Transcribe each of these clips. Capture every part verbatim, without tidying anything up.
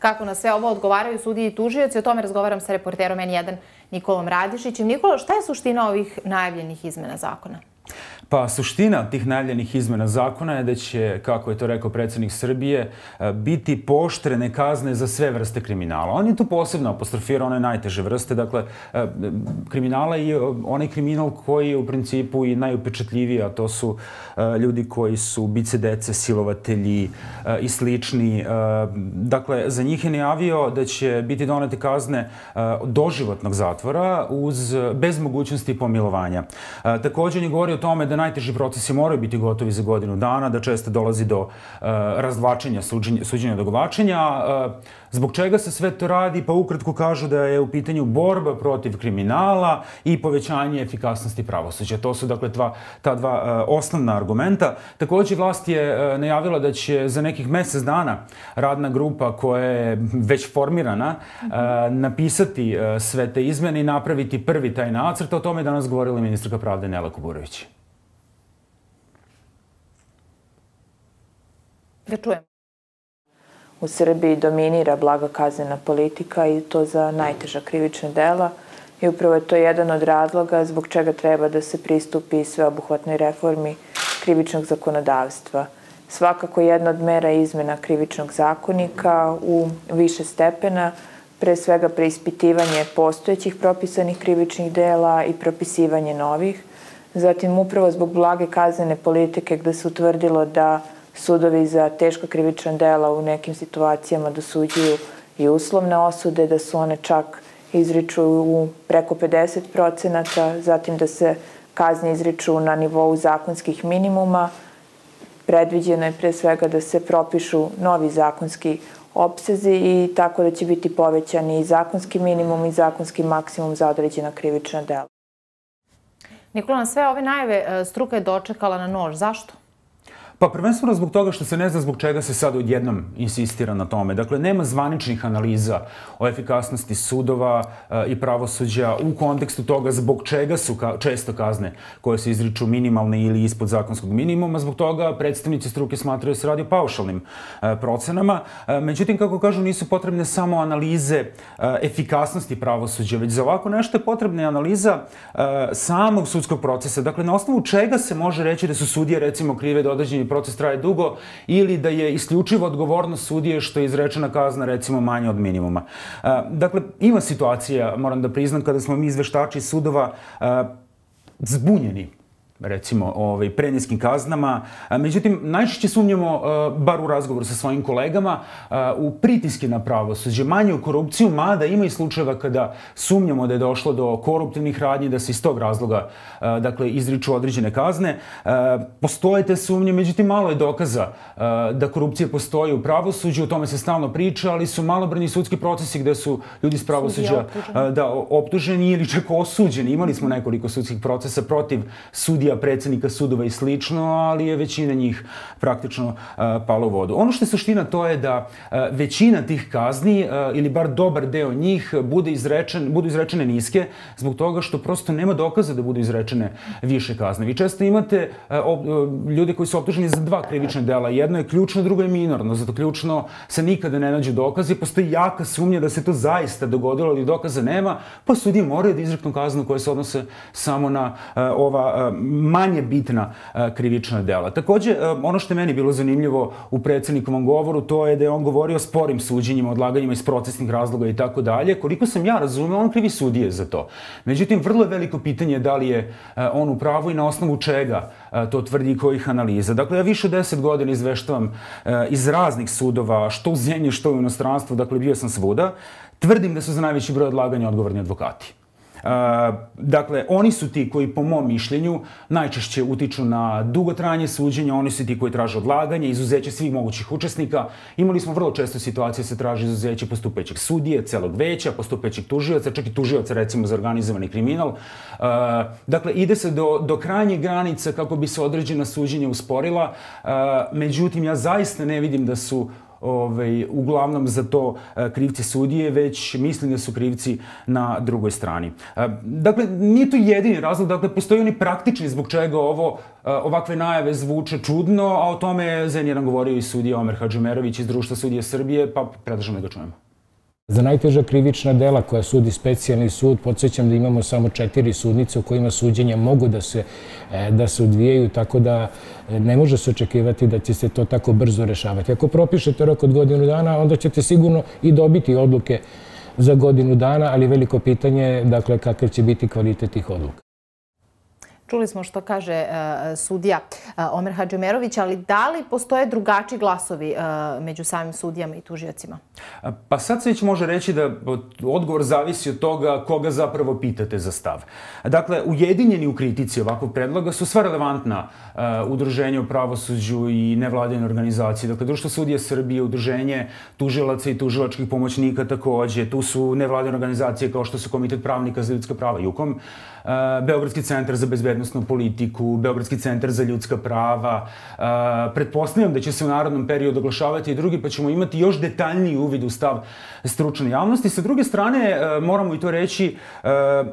kako na sve ovo odgovaraju sudije i tužioci. O tome razgovaram sa reporterom N jedan Nikolom Radišićem. Nikola, šta je suština ovih najavljenih izmena zakona? Pa suština tih najavljenih izmena zakona je da će, kako je to rekao predsjednik Srbije, biti pooštrene kazne za sve vrste kriminala. On je tu posebno apostrofirao one najteže vrste. Dakle, kriminala je onaj kriminal koji je u principu i najupečatljiviji, a to su ljudi koji su ubice dece, silovatelji i slični. Dakle, za njih je najavio da će biti donete kazne doživotnog zatvora bez mogućnosti pomilovanja. Također je govorio o tome da najteži procesi moraju biti gotovi za godinu dana, da često dolazi do razvlačenja, suđenja, odugovlačenja. Zbog čega se sve to radi? Pa ukratko kažu da je u pitanju borba protiv kriminala i povećanje efikasnosti pravosuđa. To su dakle ta dva osnovna argumenta. Također vlast je najavila da će za nekih mjesec dana radna grupa koja je već formirana napisati sve te izmene i napraviti prvi taj nacrt. O tome je danas govorila ministarka pravde Nela Kuburović. Da čujemo. U Srbiji dominira blaga kaznena politika i to za najteža krivična dela i upravo je to jedan od razloga zbog čega treba da se pristupi sveobuhvatnoj reformi krivičnog zakonodavstva. Svakako jedna od mera izmena krivičnog zakonika u više stepena, pre svega preispitivanje postojećih propisanih krivičnih dela i propisivanje novih. Zatim upravo zbog blage kaznene politike gde se utvrdilo da sudovi za teška krivična dela u nekim situacijama dosuđuju i uslovne osude, da su one čak izriču u preko pedeset procenata, zatim da se kazne izriču na nivou zakonskih minimuma. Predviđeno je pre svega da se propišu novi zakonski opsezi i tako da će biti povećani i zakonski minimum i zakonski maksimum za određena krivična dela. Nikola, na sve ove najave struka je dočekala na nož. Zašto? Pa prvenstveno zbog toga što se ne zna zbog čega se sad odjednom insistira na tome. Dakle, nema zvaničnih analiza o efikasnosti sudova i pravosuđa u kontekstu toga zbog čega su često kazne koje se izriču minimalne ili ispod zakonskog minimuma. Zbog toga predstavnici struke smatraju da se radi o paušalnim procenama. Međutim, kako kažu, nisu potrebne samo analize efikasnosti pravosuđa, već za ovako nešto je potrebna analiza samog sudskog procesa. Dakle, na osnovu čega se može reći da su sudije, recimo, krive da određeni proces traje dugo ili da je isključivo odgovornost sudije što je izrečena kazna recimo manje od minimuma. Dakle, ima situacija, moram da priznam, kada smo mi izveštači sudova zbunjeni recimo preniskim kaznama. Međutim, najčešće sumnjamo, bar u razgovoru sa svojim kolegama, u pritiske na pravosuđe, manje u korupciju, mada ima i slučajeva kada sumnjamo da je došlo do koruptivnih radnji, da se iz tog razloga izriču određene kazne. Postoje te sumnje, međutim, malo je dokaza da korupcija postoji u pravosuđu, o tome se stalno priča, ali su malobrojni sudski procesi gde su ljudi iz pravosuđa optuženi ili čak osuđeni. Imali smo nekoliko sudskih procesa protiv sudija, predsjednika sudova i slično, ali je većina njih praktično pala u vodu. Ono što je suština to je da većina tih kazni, ili bar dobar deo njih, budu izrečene niske, zbog toga što prosto nema dokaza da budu izrečene više kazne. Vi često imate ljude koji su optuženi za dva krivična dela. Jedno je ključno, drugo je minorno. Zato ključno se nikada ne nađu dokazi. Postoji jaka sumnja da se to zaista dogodilo, ali dokaza nema, pa sudije moraju da izreknu kaznu koje se odnose samo na ova manje bitna krivična dela. Također, ono što je meni bilo zanimljivo u predsjednikovom govoru, to je da je on govorio o sporim suđenjima, odlaganjima iz procesnih razloga i tako dalje. Koliko sam ja razumeo, on krivi sudije za to. Međutim, vrlo je veliko pitanje da li je on u pravu i na osnovu čega to tvrdi i kojih analiza. Dakle, ja više od deset godina izveštavam iz raznih sudova, što u zemlji, što u inostranstvu, dakle, bio sam svuda. Tvrdim da su za najveći broj odlaganja odgovorni advokati. Dakle, oni su ti koji, po mom mišljenju, najčešće utiču na dugotrajanje suđenja, oni su ti koji traže odlaganje, izuzeće svih mogućih učesnika. Imali smo vrlo često situacije da se traži izuzeće postupajućeg sudije, celog veća, postupajućeg tužioca, čak i tužioca, recimo, za organizovani kriminal. Dakle, ide se do krajnjih granica kako bi se određena suđenja usporila. Međutim, ja zaista ne vidim da su uglavnom za to krivci sudije, već mislim da su krivci na drugoj strani. Dakle, nije to jedini razlog, dakle, postoji oni praktični zbog čega ovo, ovakve najave zvuče čudno, a o tome je za N jedan govorio i sudija Omer Hadžimerović iz Društva sudija Srbije, pa predlažem da ga čujemo. Za najteža krivična dela koja sudi specijalni sud, podsjećam da imamo samo četiri sudnice u kojima suđenja mogu da se, da se odvijaju, tako da ne može se očekivati da će se to tako brzo rešavati. Ako propišete rok od godinu dana, onda ćete sigurno i dobiti odluke za godinu dana, ali veliko pitanje je, dakle, kakav će biti kvalitet tih odluka. Čuli smo što kaže sudija Omer Hadžimerović, ali da li postoje drugačiji glasovi među samim sudijama i tužiocima? Pa sad se već može reći da odgovor zavisi od toga koga zapravo pitate za stav. Dakle, ujedinjeni u kritici ovakvog predloga su sva relevantna udruženja u pravosuđu i nevladine organizacije. Dakle, Društvo sudija Srbije, udruženje tužilaca i tužilačkih pomoćnika takođe. Tu su nevladine organizacije kao što su Komitet pravnika za ljudska prava JUKOM, Beogradski centar za bezbednosnu politiku, Beogradski centar za ljudska prava. Pretpostavljam da će se u narodnom periodu oglašavati i drugi, pa ćemo imati još detaljniji uvid u stav stručne javnosti. Sa druge strane, moramo i to reći,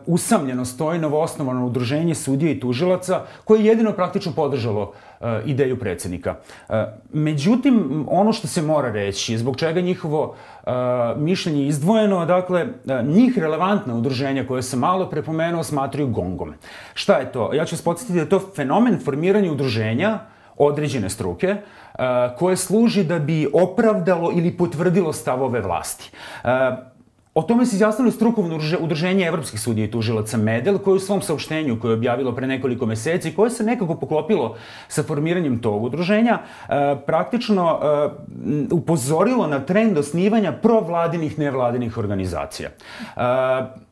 usamljeno stoji novoosnovano udruženje sudija i tužilaca koje je jedino praktično podržalo ideju predsjednika. Međutim, ono što se mora reći, zbog čega njihovo mišljenje izdvojeno, dakle, njih relevantna udruženja koje sam malo prepomenuo smatraju gongom. Šta je to? Ja ću vas podsjetiti da je to fenomen formiranja udruženja određene struke koje služi da bi opravdalo ili potvrdilo stavove vlasti. O tome se izjasnilo strukovno udruženje evropskih sudija i tužilaca MEDEL, koje u svom saopštenju koje je objavilo pre nekoliko meseci, koje se nekako poklopilo sa formiranjem tog udruženja, praktično upozorilo na trend osnivanja provladinih nevladinih organizacija.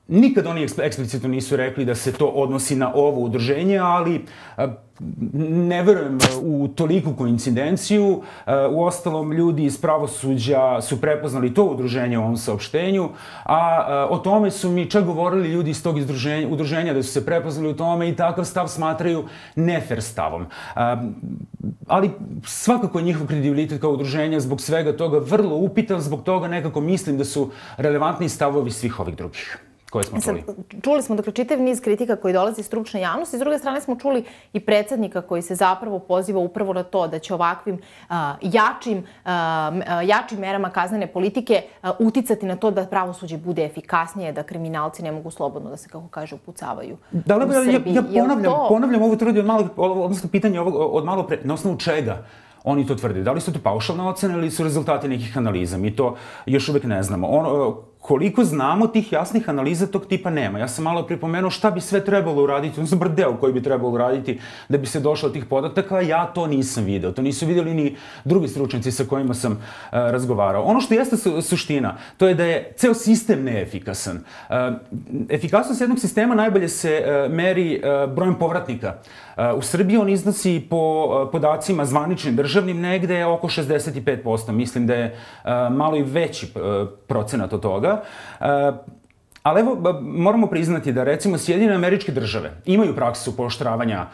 Nikad oni eksplicitno nisu rekli da se to odnosi na ovo udruženje, ali ne verujem u toliku koincidenciju. Uostalom, ljudi iz pravosuđa su prepoznali to udruženje u ovom saopštenju, a o tome su mi čak govorili ljudi iz tog udruženja da su se prepoznali u tome i takav stav smatraju nefer stavom. Ali svakako je njihov kredibilitet kao udruženja zbog svega toga vrlo upitan, zbog toga nekako mislim da su relevantni stavovi svih ovih drugih koje smo čuli. Čuli smo dakle čitav niz kritika koji dolazi iz stručne javnosti. S druge strane smo čuli i predsjednika koji se zapravo poziva upravo na to da će ovakvim jačim, jačim merama kaznene politike uticati na to da pravosuđe bude efikasnije, da kriminalci ne mogu slobodno da se, kako kaže, upucavaju u Srbiji. Ja ponavljam ovo tvrdi od malo, odnosno pitanje od malo pre, na osnovu čega oni to tvrde. Da li su to paušalne ocene ili su rezultati nekih analiza? Mi to još uvek ne znamo. Koliko znamo, tih jasnih analiza tog tipa nema. Ja sam malo pripomenuo šta bi sve trebalo uraditi, odnosno bar deo koji bi trebalo uraditi da bi se došlo od tih podataka, ja to nisam video. To nisu vidjeli ni drugi stručnjaci sa kojima sam razgovarao. Ono što jeste suština, to je da je ceo sistem neefikasan. Efikasnost jednog sistema najbolje se meri brojem povratnika. U Srbiji on iznosi po podacima zvaničnim državnim negde oko šezdeset pet posto. Mislim da je malo i veći procenat od toga. Ali evo, moramo priznati da recimo Sjedinjene Američke Države imaju praksu pooštravanja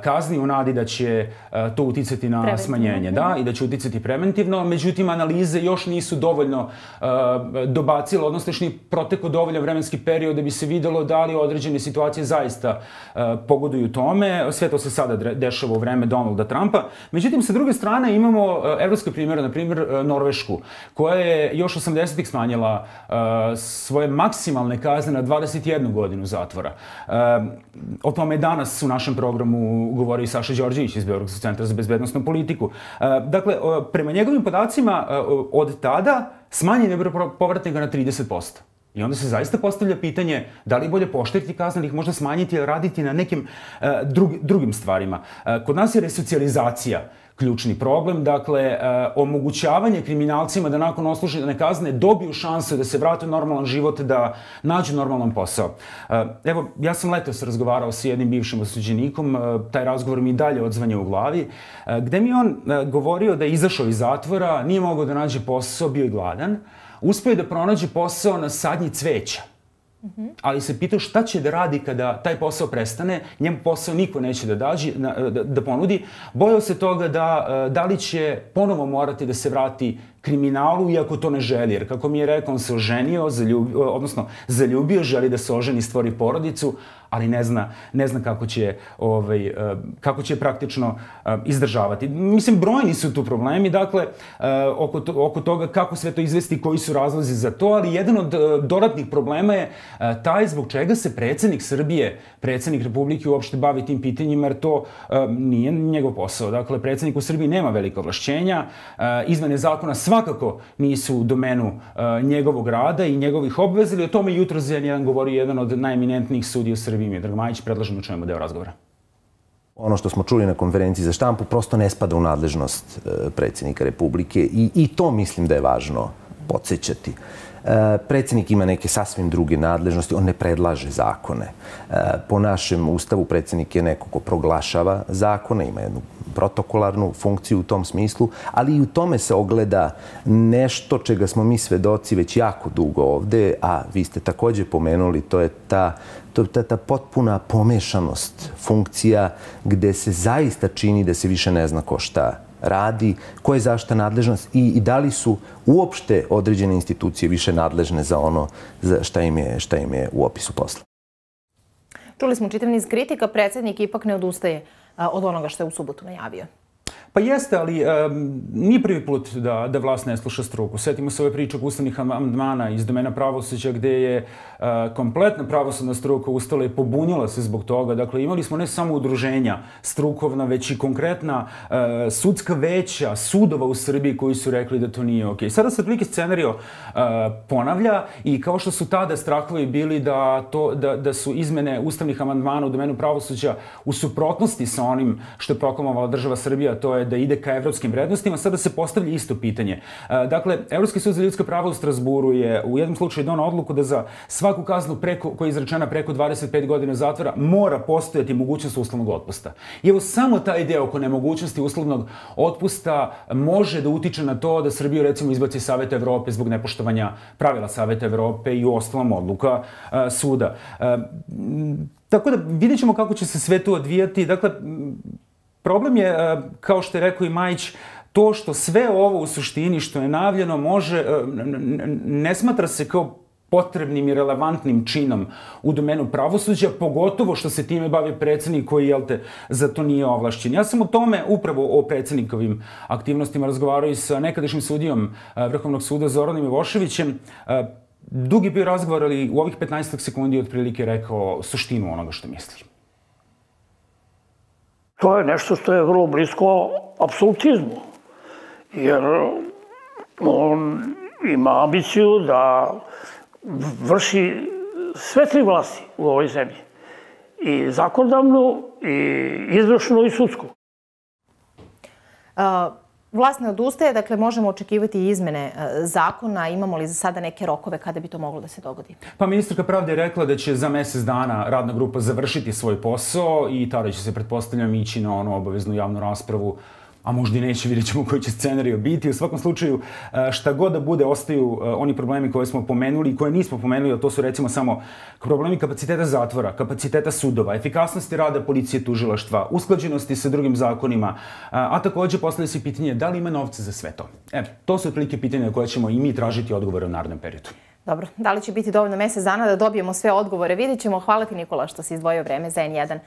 kazni u nadi da će to uticati na smanjenje, da, i da će uticati preventivno. Međutim, analize još nisu dovoljno dobacile, odnosno još nije protekao dovoljan vremenski period da bi se videlo da li određene situacije zaista pogoduju tome. Sve to se sada dešava u vreme Donalda Trumpa. Međutim, sa druge strane imamo evropske primjere, na primjer Norvešku, koja je još osamdesetih smanjila svoje maksimalne kazne na dvadeset jednu godinu zatvora. O tome je danas u našem programu govorio i Saša Đorđević iz Beogradskog centra za bezbednosnu politiku. Dakle, prema njegovim podacima, od tada smanjen je broj povratnika na trideset posto. I onda se zaista postavlja pitanje da li je bolje pooštriti kazne ili ih možda smanjiti ili raditi na nekim drugim stvarima. Kod nas je resocijalizacija ključni problem, dakle, omogućavanje kriminalcima da nakon odslužene kazne dobiju šansu da se vrate u normalan život, da nađu normalan posao. Evo, ja sam letos razgovarao sa jednim bivšim osuđenikom, taj razgovor mi dalje odzvanja u glavi, gde mi on govorio da je izašao iz zatvora, nije mogao da nađe posao, bio je gladan, uspio je da pronađe posao na sadnji cveća. Ali se pitao šta će da radi kada taj posao prestane, njemu posao niko neće da ponudi. Bojao se toga da li će ponovo morati da se vrati kriminalu, iako to ne želi. Jer, kako mi je rekao, on se oženio, zaljubio, odnosno zaljubio, želi da se oženi, stvori porodicu, ali ne zna, ne zna kako će, ovaj, kako će praktično izdržavati. Mislim, brojni su tu problemi, dakle, oko, to, oko toga kako sve to izvesti, koji su razlozi za to, ali jedan od dodatnih problema je taj zbog čega se predsjednik Srbije, predsjednik Republike uopšte bavi tim pitanjima, jer to nije njegov posao. Dakle, predsjednik u Srbiji nema velika ovlašćenja, izmene zakona svakako nisu u domenu njegovog rada i njegovih obveza, ili o tome jutro za jedan govori jedan od najeminentnijih sudija u Srbiji, Miodrag Majić. Predlažem da čujemo deo razgovora. Ono što smo čuli na konferenciji za štampu prosto ne spada u nadležnost predsjednika Republike i, i to mislim da je važno podsjećati. Predsjednik ima neke sasvim druge nadležnosti, on ne predlaže zakone. Po našem ustavu predsjednik je neko ko proglašava zakone, ima jednu protokolarnu funkciju u tom smislu, ali i u tome se ogleda nešto čega smo mi svedoci već jako dugo ovde, a vi ste također pomenuli, to je ta, to, ta, ta potpuna pomešanost funkcija gde se zaista čini da se više ne zna ko šta radi, ko je zašta nadležnost i, i da li su uopšte određene institucije više nadležne za ono za šta im je, šta im je u opisu posla. Čuli smo čitav niz kritika, predsjednik ipak ne odustaje od onoga što je u subotu najavio. Pa jeste, ali um, nije prvi put da, da vlast ne sluša struku. Sjetimo se ove priče oko ustavnih amandmana iz domena pravosuđa gdje je uh, kompletna pravosudna struka ustala i pobunila se zbog toga. Dakle, imali smo ne samo udruženja strukovna, već i konkretna uh, sudska veća, sudova u Srbiji koji su rekli da to nije okej. Sada se otprilike scenario uh, ponavlja i kao što su tada strahovi bili da, to, da, da su izmene ustavnih amandmana u domenu pravosuđa u suprotnosti sa onim što je proklamovala država Srbija, to je da ide ka evropskim vrednostima, sada se postavlja isto pitanje. Dakle, Evropski sud za ljudska prava u Strasburu je u jednom slučaju donao odluku da za svaku kaznu preko, koja je izrečena preko dvadeset pet godina zatvora mora postojati mogućnost uslovnog otpusta. I evo samo taj deo oko nemogućnosti uslovnog otpusta može da utiče na to da Srbiju recimo izbaci Saveta Evrope zbog nepoštovanja pravila Saveta Evrope i u ostalom odluka uh, suda. Uh, tako da vidjet ćemo kako će se sve to odvijati. Dakle, problem je, kao što je rekao i Majić, to što sve ovo u suštini što je najavljeno može, ne smatra se kao potrebnim i relevantnim činom u domenu pravosuđa, pogotovo što se time bavi predsjednik koji, jel te, za to nije ovlašćen. Ja sam o tome, upravo o predsjednikovim aktivnostima, razgovarao i sa nekadašnjim sudijom Vrhovnog suda Zoranom Ivoševićem. Dug je bio razgovor, ali u ovih petnaest sekundi otprilike rekao suštinu onoga što misli. To je nešto što je vrlo blisko apsolutizmu, jer on ima ambiciju da vrši sve tri vlasti u ovoj zemlji, i zakonodavnu, i izvršnu, i sudsku. Uh, vlast ne odustaje, dakle možemo očekivati izmene zakona. Imamo li za sada neke rokove kada bi to moglo da se dogodi? Pa ministarka pravde je rekla da će za mjesec dana radna grupa završiti svoj posao i tada će se, pretpostavljam, ići na onu obaveznu javnu raspravu, a možda i neće, vidjet ćemo koji će scenario biti. U svakom slučaju, šta god da bude, ostaju oni problemi koje smo pomenuli i koje nismo pomenuli, a to su recimo samo problemi kapaciteta zatvora, kapaciteta sudova, efikasnosti rada policije, tužilaštva, usklađenosti sa drugim zakonima, a također postavlja se pitanje da li ima novca za sve to. Evo, to su otprilike pitanja na koje ćemo i mi tražiti odgovore u narednom periodu. Dobro, da li će biti dovoljno mjesec dana da dobijemo sve odgovore? Vidjet ćemo. Hvala ti, Nikola, što si izdvojio vreme za en jedan.